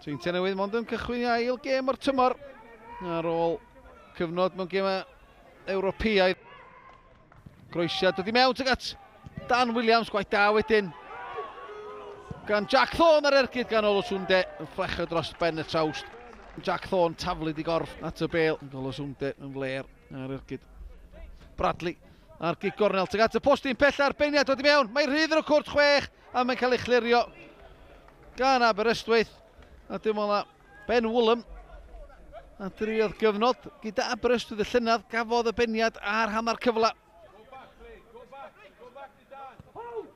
Seintiau Newydd mond yn cychwyn i ail gêm o'r tymor ar ôl cyfnod mewn gemau Ewropeaidd. Groesiad dod i mewn tuag at Dan Williams, gwaith da wedyn gan Jack Thorne ar ergyd gan Olosunde yn fflachio dros ben y trawst. Jack Thorne taflu di gorff at y bêl. Olosunde yn fler ar ergyd. Bradley ar gig gornel tuag at y postyn pella a'r beniad dod i mewn. Mae rhydd yn y cwrt 6 a mae'n cael ei chlirio gan Aberystwyth. A dim ond Ben Woolham a driodd gyfnod gyda Aberystwyth y llynedd gafodd y beniad ar hanner cyfle.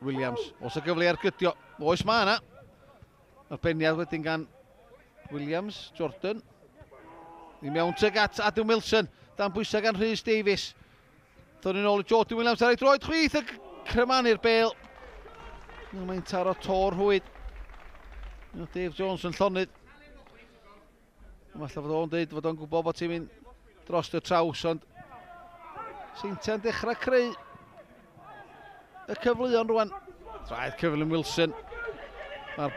Williams, os y gyfle ar gydio, oes mae yna. A'r beniad wedyn gan Williams, Jordan. I mewn tuag at Adam Wilson, dan bwysau gan Rhys Davies. Dod yn ôl i Jordan Williams ar ei droed chwith y crymanu'r bêl. Mae'n taro tor rhwyd. Dave Jones yn llonydd. Falle fod o'n dweud fod o'n gwybod bod ti'n mynd dros y traws, ond Seintiau'n dechrau creu y cyfleon rwan. Traed cyflym Wilson. Mae'r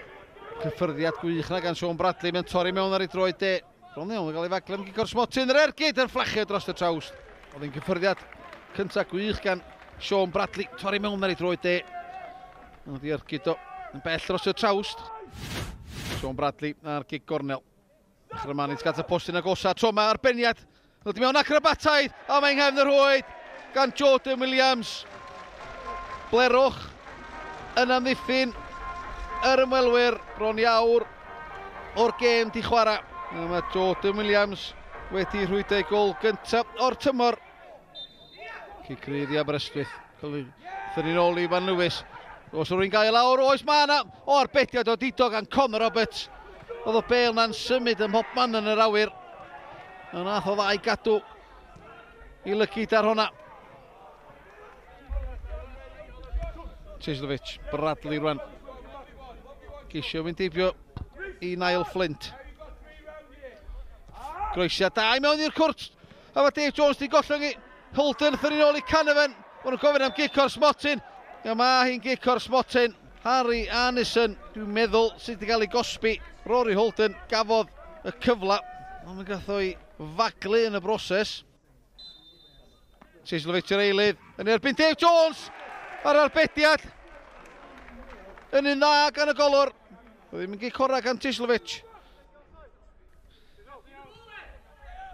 cyffyrddiad gwych na gan Sean Bradley. Mae'n torri mewn ar ei droed de. Bron iawn yn cael ei faglu am gico'r smotyn. Yr ergyd yn fflachio dros y trawst. Oedd hi'n cyffyrddiad cyntaf gwych gan Sean Bradley. Torri mewn ar ei droed de. Oedd hi ergyd o yn bell dros y trawst. Sean Bradley ar gig gornel. Chrymanic gat y postyn agosa. Tro yma arbeniad. Ddod i mewn acrobataidd. A mae'n nghefn y rhwyd gan Jordan Williams. Blerwch yn amddiffyn yr ymwelwyr bron i awr o'r gêm di chwarae. A mae Jordan Williams wedi rhwydo ei gol gyntaf o'r tymor. Cic rydd i Aberystwyth. Thynnu'n ôl i Iwan Lewis. Os rwy'n gael lawr, oes mae yna. O, arbediad o didog gan Conor Roberts. Oedd o bêl na'n symud ym mhobman yn yr awyr. A nath o ddau gadw i lygid ar hwnna. Ceslovic, Bradley rwan. Geisio fynd heibio i Niall Flint. Groesiad da i mewn i'r cwrt. A mae Dave Jones di gollwng i Holden, thynnu'n ôl i Canavan. Maen nhw'n gofyn am gic o'r smotyn. A mae hi'n gic o'r smotyn. Harry Arnison, dwi'n meddwl, sydd wedi cael ei gosbi. Rory Holden gafodd y cyfle, ond mae'n gath o'i faglu yn y broses. Ceslovic yr eilydd yn erbyn Dave Jones ar arbediad. Yn un dda gan y golwr. Oedd ddim yn gic ora gan Ceslovic.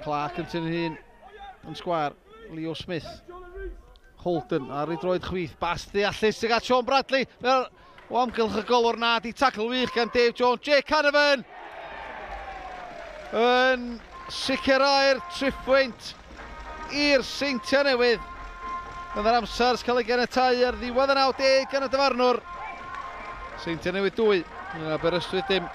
Clark yn tynnu hun yn sgwar. Leo Smith. Holden ar ei droed chwith. Bas ddeallus sydd at Sean Bradley. Mae'r o amgylch y golwr na di tacl wych gan Dave Jones. Jake Canavan yn sicrhau'r triphwynt i'r Seintiau Newydd. Yn yr amser sy'n cael ei ganiatáu ar ddiwedd y 90 gan y dyfarnwr. Seintiau Newydd 2, Aberystwyth dim.